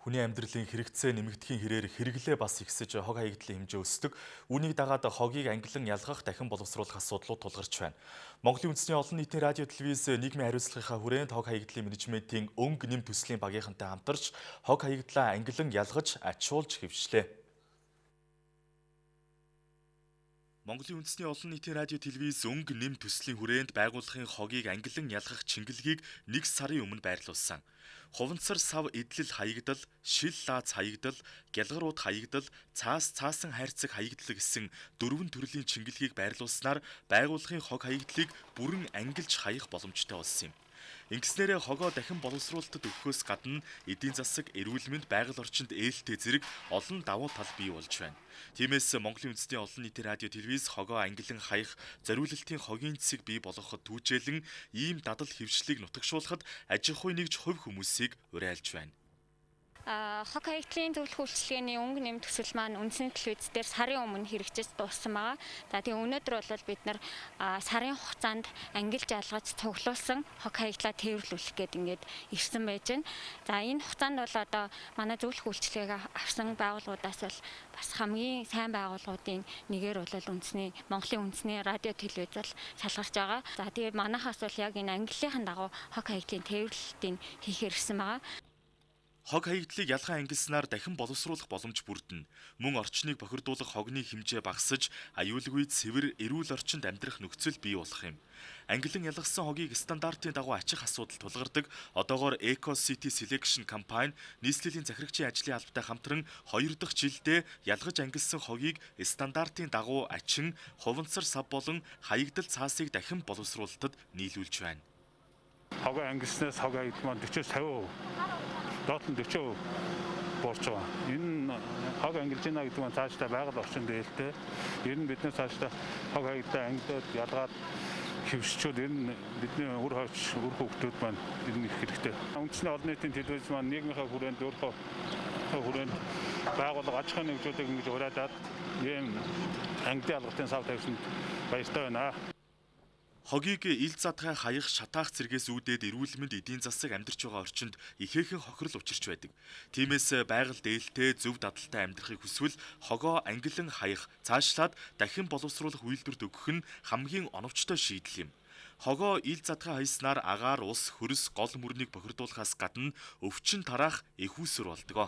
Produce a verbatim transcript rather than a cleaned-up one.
Хүний амьдралын хэрэгцээ нэмэгдэхийн хэрээр хэрэглээ бас ихсэж хог хаягдлын хэмжээ өсдөг. Үүнийг дагаад хогийг ангилан ялгах, дахин боловсруулах асуудлууд тулгарч байна. Монголын үндэсний олон нийтийн радио телевиз нийгмийн хариуцлагынхаа хүрээнд хог хаягдлын менежментийн өнгө нэм төслийн багийнхантай хамтарч хог хаягдлаа ангилан ялгаж, ачуулж хэвшлээ. Монголын үндэсний олон нийтийн радио телевиз өнгө нэм төслийн хүрээнд байгууллагын хогийг ангилан ялгах чингэлгийг нэг сарын өмнө байрлуулсан. Хуванцар сав эдлэл хаягдал, шил лаац хаягдал, гялгарууд хаягдал, цаас цаасан хайрцаг хаягдал гэсэн дөрвөн төрлийн чингэлгийг байрлуулснаар байгууллагын хог хаягдлыг бүрэн ангилж хаях боломжтой болсон юм. Ингэснээрээ хогоо дахин боловсруулалтад өгөхөөс гадна эдийн засаг, эрүүл мэнд, байгаль орчинд ээлтэй зэрэг олон давуу тал бий болж байна. Тиймээс Монголын үндэсний олон нийтийн радио телевиз хогоо ангилан хаях, зориулалтын хогийн цэцэг бий болгоход түүжээлэн ийм дадал хэвшлийг нутагшуулахад аж ахуй нэгж хувь хүмүүсийг уриалж байна. Хог хаягдлын зөвлөх үйлчилгээний өнгө нэм төсөл маань үндэсний телевиз дээр сарын өмнө хэрэгжиж дууссан байгаа. За тийм өнөөдөр бол бид нар сарын хугацаанд ангилж ялгаж цуглуулсан хог хаягдлаа тээвэрлүүлэх гээд ингээд ирсэн байж байна. За энэ хугацаанд бол одоо манай зөвлөх үйлчилгээг авсан байгууллагуудаас бол бас хамгийн сайн байгууллагуудын нэгээр бол үндэсний Монголын үндэсний радио телевиз бол шалгарч байгаа. За тэгээд манайхаас бол яг энэ ангиллын дагуу хог хаягдлын тээвэрлэлтийг хийхээр ирсэн байгаа. Хог хаягдлыг ялхан ангилснаар дахин боловсруулах боломж бүрдэнэ. Мөн орчныг бохирдуулах хогны хэмжээ багасж, аюулгүй цэвэр, эрүүл орчинд амьдрах нөхцөл бий болох юм. Ангилан ялгасан хогийг стандартын дагуу ачих асуудал тулгардаг. Одоогоор Eco City Selection компани нийслэлийн захирагчийн ажлын албатай хамтран хоёр дахь жилдээ ялгаж ангилсан хогийг стандартын дагуу ачин, хуванцар сав болон хаягдал цаасыг дахин боловсруулалтад нийлүүлж байна. Хогоо ангилснаас хог хаягдал маань forty-cinque percent доотлон forty percent буурч байгаа. Энэ хог ангилж байна гэдэг нь цаашдаа байгаль орчинд ээлтэй. Ер нь бид нэр цаашдаа хог хаягдлаа ангилаад ялгаад хэвшчүүд ер нь бидний үр хойч үр хөвгтүүд маань ер нь их хэрэгтэй. Үндэсний олон нийтийн телевиз маань нийгмийнхаа хүрээнд өөрөө хүрээнд байгууллага аж ахуйн нэгжүүдийг ингэж уриалаад ийм ангилын алгалтын сав тавьсанд баяртай байна. Хогийг ил задгай хаях, шатаах зэргээс үүдээд эрүүл мэнд, эдийн засаг амьдарч байгаа орчинд ихээхэн хохирол учирч байдаг. Тиймээс байгаль дээлтэй, зөв дадалтай амьдрахыг хүсвэл хогоо ангилан хаях, цаашлаад дахин боловсруулах үйлдвэрт өгөх нь хамгийн оновчтой шийдэл юм. Хогоо ил задгай хаяснаар агаар, ус, хөрс, гол мөрнийг бохирдуулахаас гадна өвчин тараах их усүр болдог.